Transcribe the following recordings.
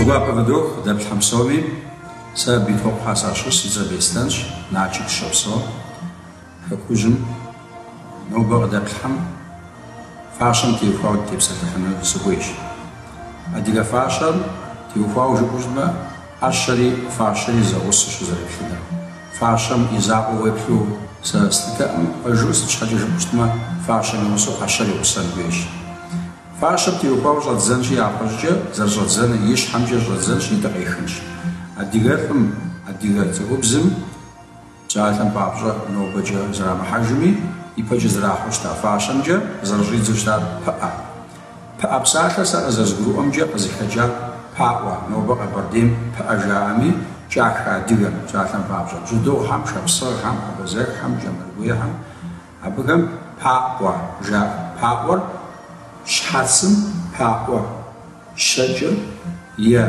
гуапэ фыдох къыдэплъхэм псоми. Сэ Битокъухэ сащыщ, си цӏэр Беслъэнщ, Налшык сыщопсэу. Хэкужьым нобэ къыдэплъхэм фащэм теухуауэ дытепсэлъыхьыну сыхуейщ. Адыгэ фащэм теухуауэ жыпӏэу щытмэ, ӏэщэри фащэри зэгъусэу щызэреплъыныр. Фащэм и закъуэ уеплъу сэ слъытэкъым, пэжу, сыт щхьэкӏэ жыпӏэу щытмэ, фащэм и гъусэу ӏэщэр и гъусэн хуейщ. Фащэм теухуауэ щӏэддзэнщи, япэщӏыкӏэ зэрыщӏэддзэныр и щхьэмкӏэ щӏэддзэнщи, дыкъехынщ. Адыгэлӏым, адыгэ цӏыхубзым псалъэм папщӏэ нобэкӏэ зэрамыхьэжми, ипэкӏэ зэрахьэу щыта фащэмкӏэ зэрыщӏидзэу щытар пыӏэ. Пыӏэ псалъэр сэ къызэрызгурыӏуэмкӏэ къызыхэкӏар паӏуэ, нобэ Къэбэрдейм пыӏэ жаӏэми, кӏахэ адыгэм, псалъэм папщӏэ, бжьэдыгъухэм, шапсыгъхэм, абазэххэм, кӏэмыргуейхэм, абыхэм паӏуэ жаӏэ. Паӏуэр щхьэцым паӏуэ щэкӏыр е,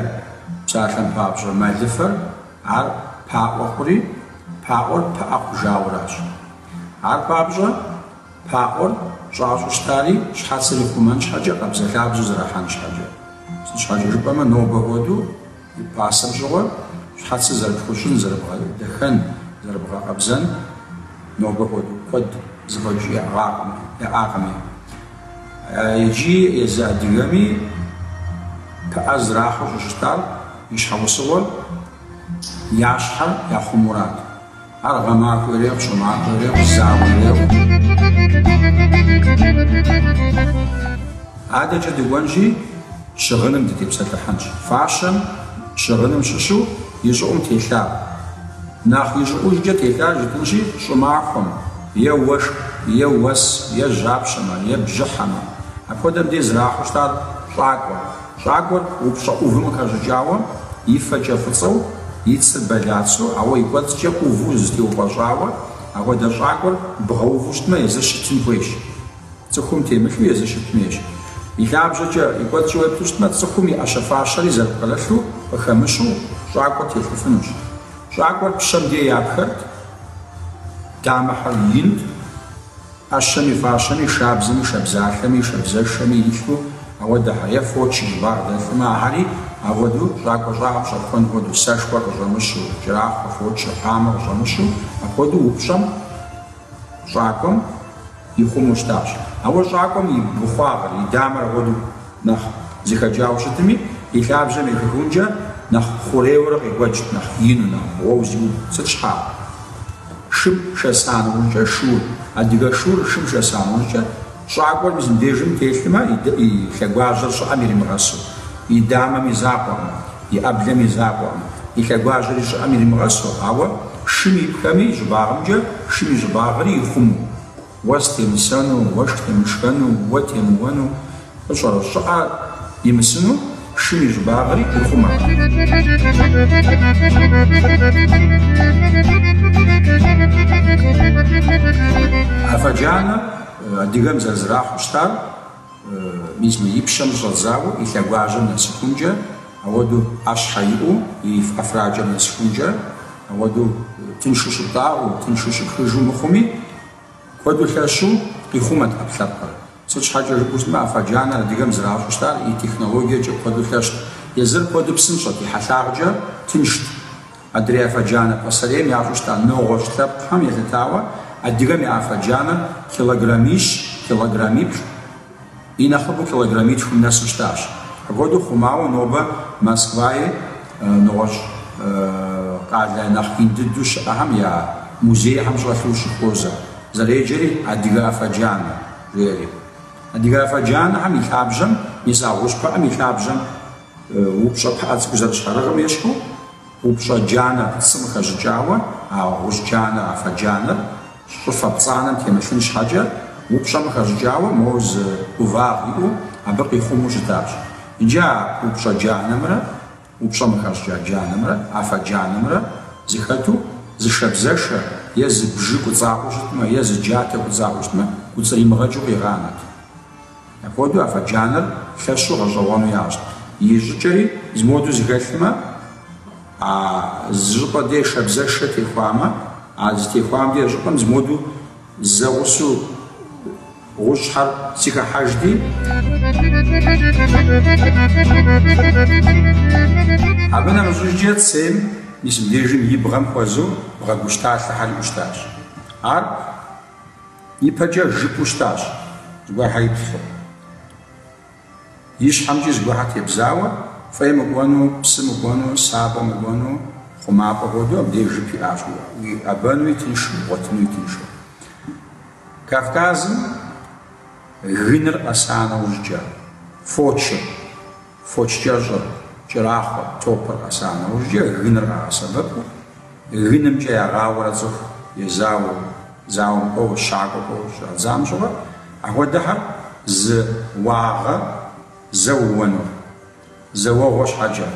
псалъэм папщӏэ, мэлыфэр, ар паӏуэ хъури, паӏуэр пыӏэ хъужауэращ. Ар папщӏэ Паӏуэр щӏащӏу щытари щхьэцыр ихъумэн щхьэкӏэ, къабзэлъабзэу зэрахьэн щхьэкӏэ. Сыт щхьэкӏэ жыпӏэмэ, нобэ хуэдэу, пасэм щыгъуэ, щхьэцыр зэрыпхущӏын, зэрыбгъэдэхэн, зэрыбгъэкъэбзэн нобэ хуэдэу куэд зэфӏэкӏ яӏыгъакъым, яӏакъыми. Иджы езы адыгэми пыӏэ зэрахьэу щӏыщытар и щхьэусыгъуэр я щхьэр яхъумурат. Ар гъэмахуэ ирехъу, щӏымахуэ ирехъу, зауэ ирехъу. Адэкӏэ дыкӏуэнщи, щыгъыным дытепсэлъыхьынщ. Фащэм щыгъыным щыщу и щӏыӏум телъар. Нэхъ и щӏыӏужкӏэ телъар жытӏынщи, щӏымахуэм, е уэшх, е уэс, е жьапщэмэ, е бжьыхьэмэ. Апхуэдэм дей зэрахьэу щытар щӏакӏуэ. Щӏакӏуэр упщӏэ ӏувым къыхэщӏыкӏауэ, и фэкӏэ фӏыцӏэу, и цыр бэлацэу, ауэ и кӏуэцӏкӏэ ӏуву зытеупӏэщӏауэ, апхуэдэ щӏакӏуэр бгъэуву щытмэ, езыр щытын хуейщ. Цӏыхум темылъу езыр щытын хуейщ. И лъабжьэкӏэ, и кӏуэцӏкӏэ уеплъу щытмэ, цӏыхум и ӏэщэ-фащэри зэрыпкърылъу, къыхэмыщу, щӏакӏуэр телъыфынущ. Щӏакӏуэр пщэм дей япхэрт, дамэхэр инт. ӏэщэми, фащэми, шабзэми, шабзалъэми, шабзэшэми илъу ауэдэхьэ, е фоч и щӏыбагъ дэлъымэ, ахэри ауэдэу щӏакӏуэ щӏагъым щӏэпхуэн хуэдэу, сэшхуэр къыщӏэмыщу, кӏэрахъуэ, фочыр, къамэ къыщӏэмыщу, апхуэдэу упщӏэм щӏакӏуэм ихъумэу щытащ. Ауэ щӏакӏуэм и быхъуагъыр, и дамэр апхуэдэу нэхъ зэхэкӏауэ щытми, и лъабжьэм ехыхункӏэ нэхъ хъурейуэрэ къекӏуэкӏт, нэхъ ину, нэхъ бгъуэу зиубгъу. Сыт щхьа? Шым шэса нэужькӏэ шур, адыгэ шур шым шэса нэужькӏэ, щӏакӏуэр мис мыбдежым телъмэ, и лъэгуажьэр щӏыӏэм иримыгъэсу, и дамэм и закъуэкъым, и ӏэблэм и закъуэкъым, и лъэгуажьэри щӏыӏэм иримыгъэсу, ауэ шым ипхэми и щӏыбагъымкӏэ шым и щӏыбагъри ихъумэу, уэс темысэну, уэшх темышхэну, уэ темыуэну, Фӏыщӏэрэ щӏыӏэ имысыну шым и щӏыбагъри ихъумэрт. Афэ джанэ адыгэм зэрызэрахьэу щытар мис мы и пщэм щӏэдзауэ и лъэгуажьэм нэсыхункӏэ, ауэдэу ӏэщхьэ иӏэу и ӏэфракӏэм нэсыхункӏэ, ауэдэу тыншу щыптӏагъэу, тыншу щыпхыжу мыхъуми, куэду лъэщу къихъумэт ӏэпкълъэпкъыр. Сыт щхьэкӏэ жыпӏэу щытмэ, афэ джанэр адыгэм зэращӏу щытар и технологиекӏэ куэду лъэщт. Езыр куэду псынщӏэт, и хьэлъагъкӏэ тыншт. Адрей афэ джанэ пасэрейм ящӏу щыта нэгъуэщӏ лъэпкъхэм елъытауэ, адыгэм я афэ джанэр килограммищ, килограммиплӏ, и нэхъыбэу килограммитхум нэсу щытащ. Апхуэдэу хъумауэ нобэ Москваи нэгъуэщӏ къалэ нэхъ ин дыдэу щыӏэхэм я музейхэм щӏэлъу ущыхуозэ. Зэреджэри адыгэ афэ джанэ, жеӏэри. Адыгэ афэ джанэхэм и лъабжьэм, мис а гъущӏ пыӏэм и лъабжьэм упщӏэ пыӏэ цӏыкӏу зэрыщхьэрыгъым ещхьу, упщӏэ джанэ цым къыхэщӏыкӏауэ а гъущӏ джанэр, афэ джанэр щӏыфэ пцӏанэм темылъын щхьэкӏэ, упщӏэм къыхэщӏыкӏауэ моуэ зы ӏувагъ иӏэу абы къихъумэу щытащ. Иджы а упщӏэ джанэмрэ Упщӏэм къыхэщӏыкӏа джанэмрэ афэ джанэмрэ зыхэту зы шабзэшэ е зы бжы кӏуцӏаӏуэу щытмэ, е зы джатэ кӏуцӏаӏуэу щытмэ, кӏуцӏримыгъэкӏыу къигъанэт. Апхуэдэу афэ джанэр лъэщу гъэщӏэгъуэну ящӏт. И щӏыкӏэри зы моду зыхэлъмэ, а зы щӏыпӏэ дей шабзэшэ техуамэ, а зытехуам дей щӏыпӏэм зы моду зэгъусэу. гъущӏхэр зэхыхьэжти. Абы нэмыщӏыжкӏэ цейм мис мыбдежым и бгъэм хуэзэу бгъэгущталъэхэр иӏэу щытащ. Ар ипэкӏэ жыпу щытащ, зыгуэрхэр иплъхьэу. И щхьэмкӏи зыгуэрхэр тебзауэ, фӏей мыкӏуэну, псы мыкӏуэну, сабэ мыкӏуэну, хъумапӏэ хуэдэу абдеж жып иӏащ, уиӏэбэнуи тыншу, бгъуэтынуи тыншу. Кавказым гыныр къэса нэужькӏэ, фочыр, фоч кӏэщӏыр, кӏэрахъуэр, топыр къэса нэужькӏэ гыныр къагъэсэбэпу, гынымкӏэ ягъауэрэ цӏыху езауэу, зауэм кӏуэуэ, щакӏуэ кӏуэуэ щӏадзам щыгъуэ, апхуэдэхэр зы уагъэ зэ ууэнур, зэ уэгъуэ щхьэкӏэ,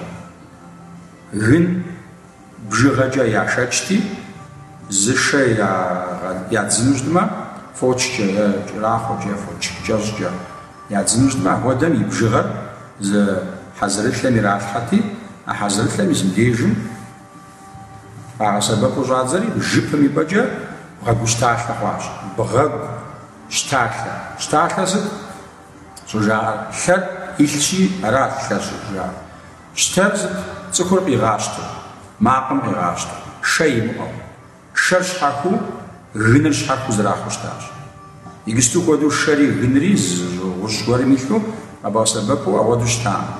гын бжыгъэкӏэ яшэчти, зы шэ ядзыну щытмэ, фочкӏэ е кӏэрахъуэкӏэ е фоч кӏэщӏкӏэ ядзыну щытмэ, апхуэдэм и бжыгъэр зы хьэзырылъэм иралъхьэти, а хьэзырылъэм мис мыбдежым къагъэсэбэпу щӏадзэри, жыпым и пӏэкӏэ бгъэгущталъэ хъуащ. Бгъэгу щталъэ. Щталъэ сыт щӏыжаӏэр? Лъэр илъщи, арат лъэр щӏыжаӏэр. Щтэр сыт? Цӏыхур къигъащтэу, макъым къигъащтэу, шэ имыӏэу. Шэр щхьэхуу, гыныр щхьэхуу зэрахьэу щытащ. Иджысту хуэдэу шэри гынри зы гъущӏ гуэрым илъу къэбгъэсэбэпу апхуэдэу щытакъым.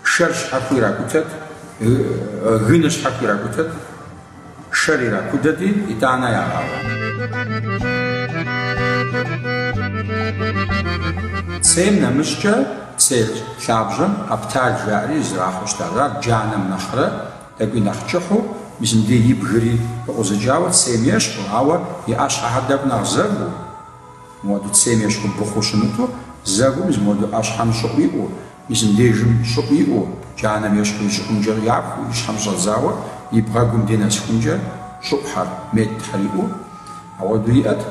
Шэр щхьэхуу иракӏутэт, гыныр щхьэхуу иракӏутэт, шэр иракудэти, итӏанэ ягъауэ. Цейм нэмыщӏкӏэ цей лъабжьэм къэптал жаӏэри зэрахьэу щытащ. Ар джанэм нэхърэ тӏэкӏуи нэхъ кӏыхьу, мис мыбдеж и бгыри пыкъузыкӏауэ цейм ещхьу, ауэ и ӏэщхьэхэр тӏэкӏу нэхъ зэву, мыуэду цейм ещхьу быхъуу щымыту, зэву, мис мыуэду ӏэщхьэм щӏыӏу иӏэу, мис мыбдежым щӏыӏу иӏэу, джанэм ещхьу и щӏыӏумкӏэ япхыу, и щхьэм щӏэдзауэ, и бгъэгум де нэсыхункӏэ щӏыӏухэр, метрхэр иӏэу, ауэду иӏэт.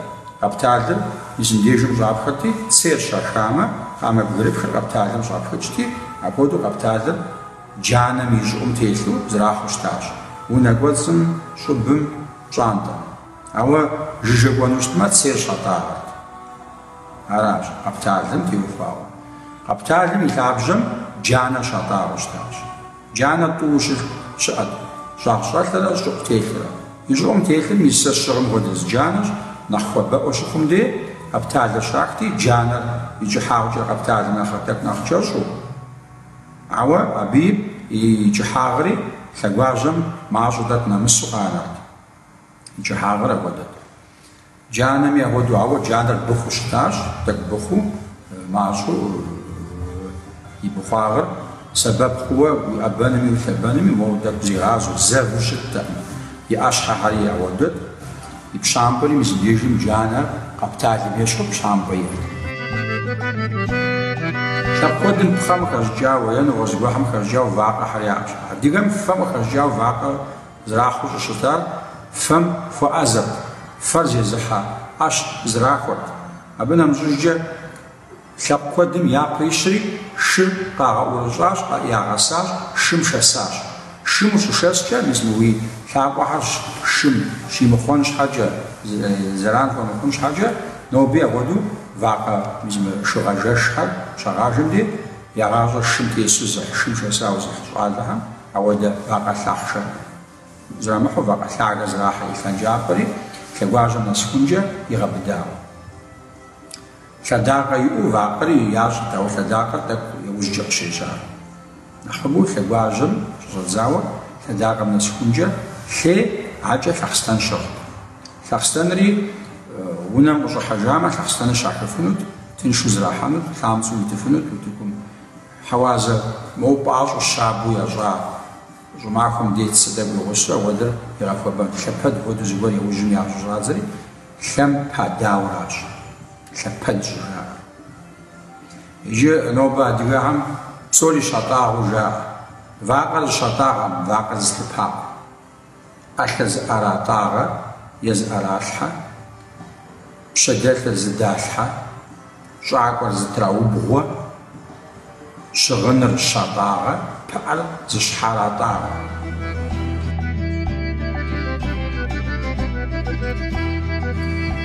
Къэпталыр мис мыбдежым щӏапхэрти, цейр щахамэ, къамэ бгырыпхыр къэпталым щӏапхыкӏти, апхуэдэу къэпталыр джанэм и щӏыӏум телъу зэрахьэу щытащ, унэ кӏуэцӏым, щӏыбым, пщӏантӏэм. Ауэ жыжьэ кӏуэну щытмэ, цейр щатӏагъэрт. Аращ, къэпталым теухуауэ. Къэпталым и лъабжьэм джанэ щатӏагъэу щытащ. Джанэ тӏуу щыӏэт, щӏагъщӏэлърэ щӏыӏу телърэ. И щӏыӏум телъыр мис сэ сщыгъым хуэдэ зы джанэщ, нэхъ хуабэӏуэ щыхъум де, къэпталыр щахти, джанэр и кӏыхьагъкӏэ къэпталым нэхърэ тӏэкӏу нэхъ кӏэщӏу, Ауэ абы и кӏыхьагъри лъэгуажьэм мащӏэу тӏэкӏу нэмысу къанэрт. И кӏыхьагъыр апхуэдэт. Джанэми апхуэдэу, ауэ джанэр быхъуу щытащ, тӏэкӏу быхъуу, мащӏэу и быхъуагъыр сэбэп хъууэ уиӏэбэнуми улъэбэнуми, моуэ тӏэкӏу зигъазэу, зэву щыттэкъым. И ӏэщхьэхэри апхуэдэт. И пщампӏэри мис мыбдежым джанэр къэпталым ещхьу пщампӏэ иӏэт. Лъэпкъ куэдым пхъэм къыхэщӏыкӏауэ е нэгъуэщӏ зыгуэрхэм къыхэщӏыкӏауэ вакъэхэр яӏэщ. Адыгэм фэм къыхэщӏыкӏауэ вакъэ зэрахьэу щӏыщытар фэм хуэӏэзэрт, фэр зезыхьэ ӏэщ зэрахуэрт. Абы нэмыщӏыжкӏэ Лъэпкъ куэдым япэ ищри шыр къагъэӏурыщӏащ, ягъэсащ, шым шэсащ. Шым ущышэскӏэ, мис мы уи лъакъуэхэр шым щимыхъуэн щхьэкӏэ, зэран хуэмыхъун щхьэкӏэ, ноби апхуэдэу вакъэ мис мы шыгъажэшхэр щагъажэм де, я гъащӏэр шым тесу зыхь, шым шэсауэ зыхь щӏалэхэм ауэдэ вакъэ лъахъшэ зэрамыхьэу вакъэ лъагэ зэрахьэ и лъэнкӏапӏэри лъэгуажьэм нэсыхункӏэ игъэбыдауэ. Лъэдакъэ иӏэу вакъэри ящӏырт, ауэ лъэдакъэр тӏэкӏу иужькӏэ къыщежьар. Нэхъыбэу лъэгуажьэм щыщӏэдзауэ лъэдакъэм нэсыхункӏэ лъей акӏэ лъэхъстэн щыгът. Лъэхъстэнри унэм къыщӏыхьэжамэ, лъэхъстэныр щахыфынут, тыншу зэрахьэнут, лъамцӏэу итыфынут утыкум. Хьэуазэ моуэ пӏащӏэу щабэу ящӏа щӏымахуэм дей цы тӏэкӏу и гъусэу ауэдэр игъэхуэбэнт. Лъэпэд хуэдэу зыгуэр иужьым ящӏу щӏадзэри, Лъэм падауращ, лъэпэд щӏыжаӏэр. Иджы нобэ адыгэхэм псори щатӏагъэу жаӏэ. Вакъэр зыщатӏагъэм, вакъэр зылъыпакъым. ӏэлъэ зыӏэратӏагъэ е зыӏэралъхьэ, пщэдэлъыр зыдалъхьэ, щӏакӏуэр зытраубгъуэ, щыгъыныр щатӏагъэ, пыӏэр зыщхьэратӏагъэ.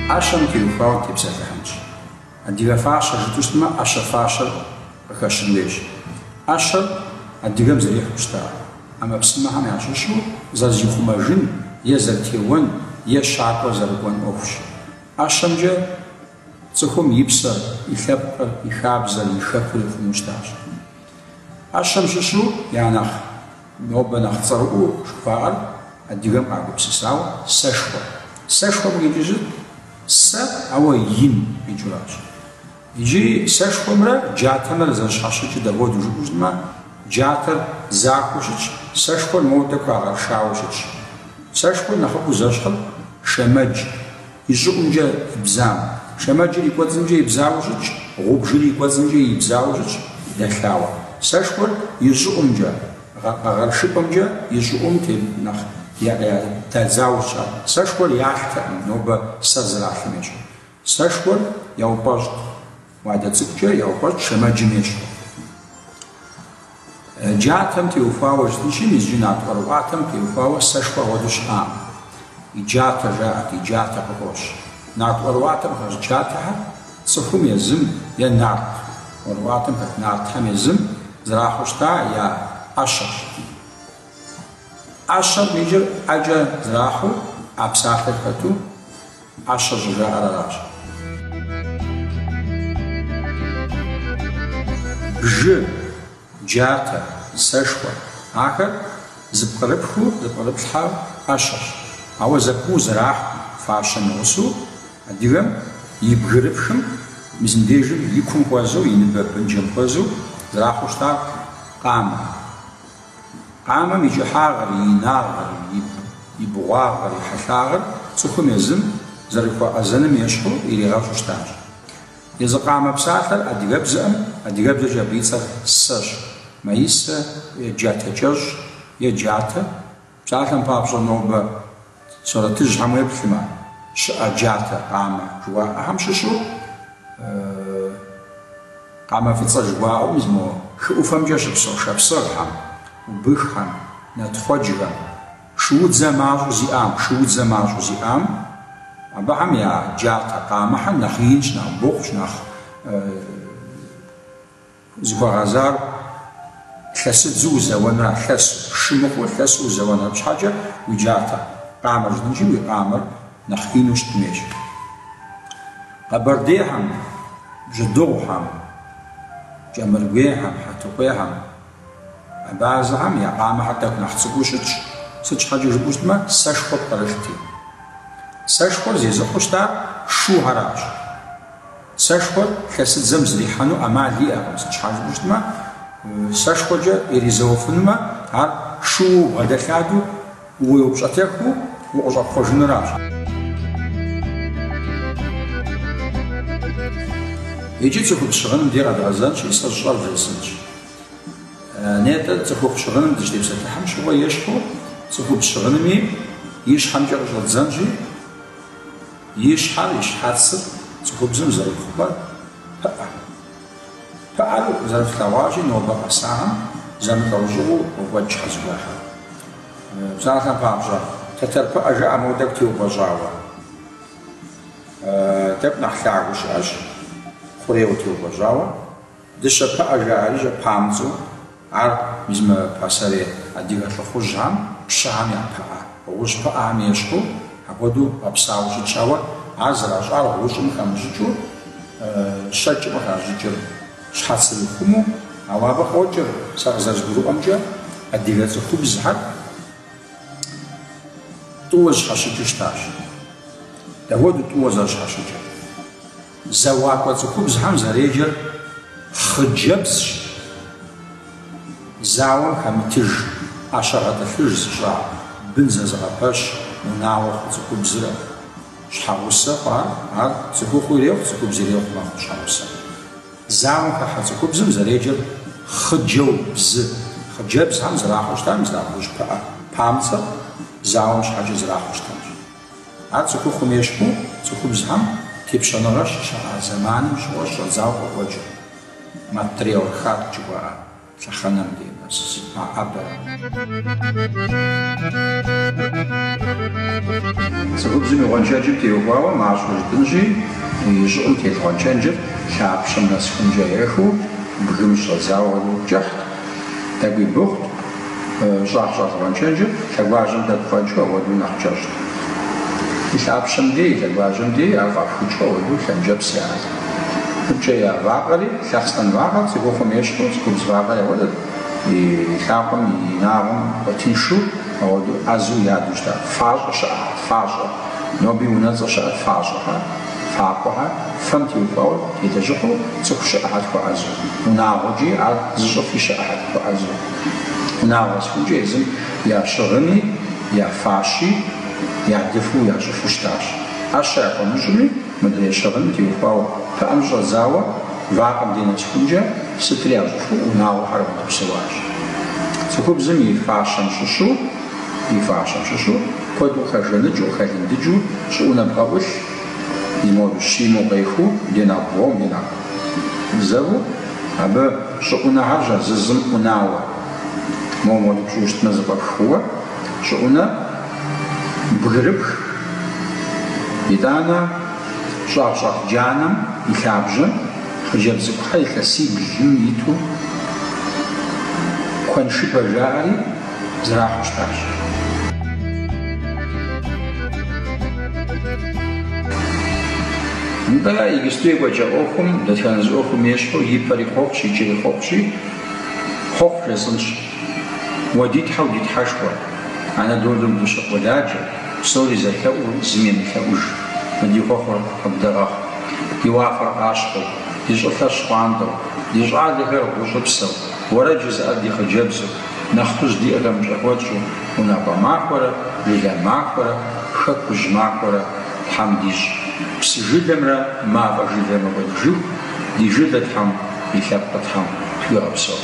ӏэщэм теухуауэ тепсэлъыхьынщ. Адыгэ фащэ жытӏэу щытмэ, ӏэщэ-фащэр къыхэщын хуейщ. ӏэщэр адыгэм зэрихьэу щыта ӏэмэпсымэхэм ящыщу зэрызихъумэжын е зэрытеуэн е щакӏуэ зэрыкӏуэн ӏуэхущ. ӏэщэмкӏэ цӏыхум и псэр, и лъэпкъыр, и хабзэр, и хэкур ихъумэу щытащ. ӏэщэм щыщу я нэхъ нобэ нэхъ цӏэрыӏуэу жыхуаӏэр адыгэм къагупсысауэ сэшхуэ. Сэшхуэм къикӏыр сыт? Сэ, ауэ ин къикӏыуращ. Иджыри сэшхуэмрэ джатэмрэ зэрыщхьэщыкӏыр дапхуэдэу жыпӏэу щытмэ, джатэр захуэу щытщ, сэшхуэр моуэ тӏэкӏу къэгъэшауэ щытщ. Сэшхуэр нэхъыбэу зэщхьыр шэмэдж и щӏыӏумкӏэ ибзам. Шэмэджыр и кӏуэцӏымкӏэ ибзауэ щытщ, гъубжыр и кӏуэцӏымкӏэ ибзауэ щытщ, дэлъауэ. Сэшхуэр и щӏыӏумкӏэ, къэгъэшыпӏэмкӏэ и щӏыӏум нэхъ дадзауэ щытщ ар. Сэшхуэр ялътэкъым, нобэ сэр зэралъым ещхьу. Сэшхуэр яупӏэщӏт, уадэ цӏыкӏукӏэ яупӏэщӏт шэмэджым ещхьу. Джатэм теухуауэ жытӏэнщи, мис иджы нарт ӏуэрыӏуатэм теухуауэ сэшхуэ апхуэдэу щыӏакъым. И джатэ жаӏэрт, и джатэ къыхощ. Нарт ӏуэрыӏуатэм хэщ джатэхэр цӏыхум езым е нарт ӏуэрыӏуатэм хэт нартхэм езым зэрахьэу щыта я ӏэщэщ. ӏэщэм къикӏыр ӏэкӏэ зэрахьэу, ӏэ псалъэр хэту ӏэщэ щӏыжаӏэр аращ. Бжы, джатэ, сэшхуэ, ахэр зыпкърыпхыу зыпкърыплъхьэ ӏэщэщ, ауэ зэпымыу зэрахьу фащэм и гъусэу адыгэм и бгырыпхым мис мыбдежым и кум хуэзэу, и ныбэ бынжэм хуэзэу зэрахьэу щытар къамэ. Къамэм и кӏыхьагъыр, и инагъыр, и бгъуагъыр, и хьэлъагъыр цӏыхум езым зэрыхуэӏэзэным ещхьу иригъэщӏу щытащ. Езы къамэ псалъэр адыгэбзэӏым, адыгэбзэкӏэ абы и цӏэр сэщ, маисэ е джатэ кӏэщӏ е джатэ. Псалъэм папщӏэ нобэ сурэтыжьхэм уеплъмэ, щыӏэ джатэ, къамэ жыхуаӏэхэм щыщу къамэ фӏыцӏэ жыхуаӏэу мис мо хы ӏуфэмкӏэ щыпсэу шапсыгъхэм, убыххэм, натхъуэджхэм, шуудзэ мащӏэу зиӏам, шуудзэ мащӏэу зиӏам, абыхэм я джатэ къамэхэр нэхъ инщ, нэхъ бухъущ, нэхъ зыхуэгъэзар лъэсыдзэу узэуэнра, лъэсу, шы мыхъуу лъэсу узэуэнра щхьэкӏэ уи джатэ къамэр жытӏэнщи, уи къамэр нэхъ ину щытын хуейщ. Къэбэрдейхэм, бжьэдыгъухэм, кӏэмыргуейхэм, хьэтыкъуейхэм, абазэхэм я къамэхэр тӏэкӏу нэхъ цӏыкӏуу щытщ, сыт щхьэкӏэ жыпӏэу щытмэ, сэшхуэ пкърылъти. Сэшхуэр зезыхьэу щытар шухэращ. Сэшхуэр лъэсыдзэм зрихьэну ӏэмал иӏэкъым, сыт щхьэ жыпӏэу щытмэ, сэшхуэкӏэ иризэуэфынумэ, ар шууэ убгъэдэлъадэу, уеупщӏэтэхыу укъыщӏэпхъуэжынуращ. Иджы цӏыхубз щыгъыным дей къэдгъэзэнщи, сэ сщӏэр вжесӏэнщ. Нетӏэ цӏыхухъу щыгъыным дыщытепсэлъыхьым щыгъуэ ещхьу цӏыхубз щыгъынми и щхьэмкӏэ къыщӏэдзэнщи, И щхьэр, и щхьэцыр цӏыхубзым зэрихъумэр пыӏэ. Пыӏэр зэрыфлъэгъуащи, нобэ къэсахэм зэмылӏэужьыгъуэу къокӏуэкӏ щхьэзыгуэхьэр. Псалъэм папщӏэ, тэтэр пыӏэ жаӏэ моуэ тӏэкӏу теупӏэщӏауэ. Тӏэкӏу нэхъ лъагэу щыӏэщ, хъурейуэ теупӏэщӏауэ. Дыщэ пыӏэ жаӏэри щыӏэ памцӏэу. Ар мис мы пасэрей адыгэ лӏыхъужьхэм, пщыхэм я пыӏэ, гъущӏ пыӏэхэм ещхьу, апхуэдэу гъэпсауэ щытщ, ауэ ар зэращӏар гъущӏым хэмыщӏыкӏыу, щэкӏым къыхащӏыкӏыр щхьэцыр ихъумэу, ауэ абы къокӏыр, сэ къызэрызгурыӏуэмкӏэ, адыгэ цӏыхубзхэр тӏууэ зэщхьэщыкӏыу щытащ. Дапхуэдэу тӏууэ зэрыщхьэщыкӏыр? Зэуакӏуэ цӏыхубзхэм зэреджэр хъыджэбзщ, зауэм хэмытыж, ӏэщэ гъэтӏылъыж зыщӏа, бын зэзыгъэпэщ унагъуэ хъу цӏыхубзрэ щхьэгъусэ хъуар, ар цӏыхухъу ирехъу, цӏыхубз ирехъу мэхъу щхьэгъусэ. Зауэм хыхьэ цӏыхубзым зэреджэр хъыджэу бзы, хъыджэбзхэм зэрахьэу щытар мис а гъущӏ пыӏэ памцӏэр зауэм щхьэкӏэ зэрахьэу щытащ. Ар цӏыхухъум ещхьу цӏыхубзхэм тепщэныгъэ щыщыӏа зэманым щыгъуэ щӏэдзауэ къокӏуэкӏыр, матриархат жыхуаӏэ лъэхъэнэм дей нэс мэӏэбэр. Цӏыхубзым и гъуэншэджым теухуауэ мащӏэу жытӏынщи. И щӏыӏум телъ гъуэншэнджыр лъапщэм нэсхункӏэ ехыу, бгым щӏэдзауэ хуэдэу кӏыхьт, тӏэкӏуи быхъут, щӏагъщӏэлъ гъуэншэнджыр лъэгуажьэм тӏэкӏу фӏэкӏыу ауэдэу нэхъ кӏэщӏт. И лъапщэм дей, и лъэгуажьэм дей ар фӏапхыкӏыу ауэдэу лъэнкӏэпс яӏэт. Мыпкӏэ я вакъэри, лъэхъстэн вакъэр цӏыхухъум ещхьу, цӏыхубз вакъэр ауэдэт, и лъакъуэм и инагъым хуэтыншу ауэдэу ӏэзэу яду щытат. Фащӏэ щыӏэт, фащӏэ. Ноби унэцӏэ щыӏэт фащӏэхэр, факъуэхэр, фэм теухуауэ телэжьыхьу цӏыху щыӏэхэр хуэӏэзэу. Унагъуэкӏи ар зыщӏыфи щыӏэхэр хуэӏэзэу. Унагъуэ къэсхункӏэ езым я щыгъыни, я фащи ядыфу ящӏыфу щытащ. ӏэщэ яхуэмыщӏми, мыдрей щыгъыным теухуауэ пыӏэм щӏэдзауэ вакъэм дей нэсхункӏэ сытри ящӏыфу унагъуэхэр апхуэдэу псэуащ. Цӏыхубзым и фащэм щыщу И фащэм щыщу куэду къыхэжаныкӏыу, къыхэлындыкӏыу щӏыӏунэ бгъэӏулъ, и моду щимэу къехыу, де нэхъ бгъуэм, де нэхъ зэву, абы щӏыӏунэхэр щӏэзызым ӏунауэ, мо моду пщӏыуэ щытмэ зэфӏэпхыуэ, щӏыӏунэ бгырыпх, итӏанэ щӏагъщӏэлъ джанэм и лъабжьэм хъыджэбз цӏыкӏухэр илъэсиблым иту куэншыбэ жаӏэри, зэрахьэу щытащ. Нтӏэ, иджысту екӏуэкӏа ӏуэхум, дэтхэнэ зы ӏуэхум ещхьу, и пэри хъуэхъущ, и кӏэри хъуэхъущи, хъуэхъу жесӏэнщ. Уэ ди Тхьэу ди Тхьэшхуэ, Анадолэм дыщыкъуэладжэ, псори зэлъэӏур зым емылъэӏуж, мы ди хъуэхъур къыбдэгъэхъу. Ди уафэр къащхъуэу, ди щӏылъэр щхъуантӏэу, ди щӏалэхэр гъущӏыпсэу, уэрэд жызыӏэр ди хъыджэбзу, Нэхъыжь диӏэхэм пщӏэ хуэтщӏу унагъуэ махуэрэ, жылэ махуэрэ, хэкужь махуэрэ Тхьэм дищӏ. Псы жылэмрэ мафӏэ жылэ мыкӏуэдыжыху ди жылэ Тхьэм, ди лъэпкъыр Тхьэм тхуигъэпсэу.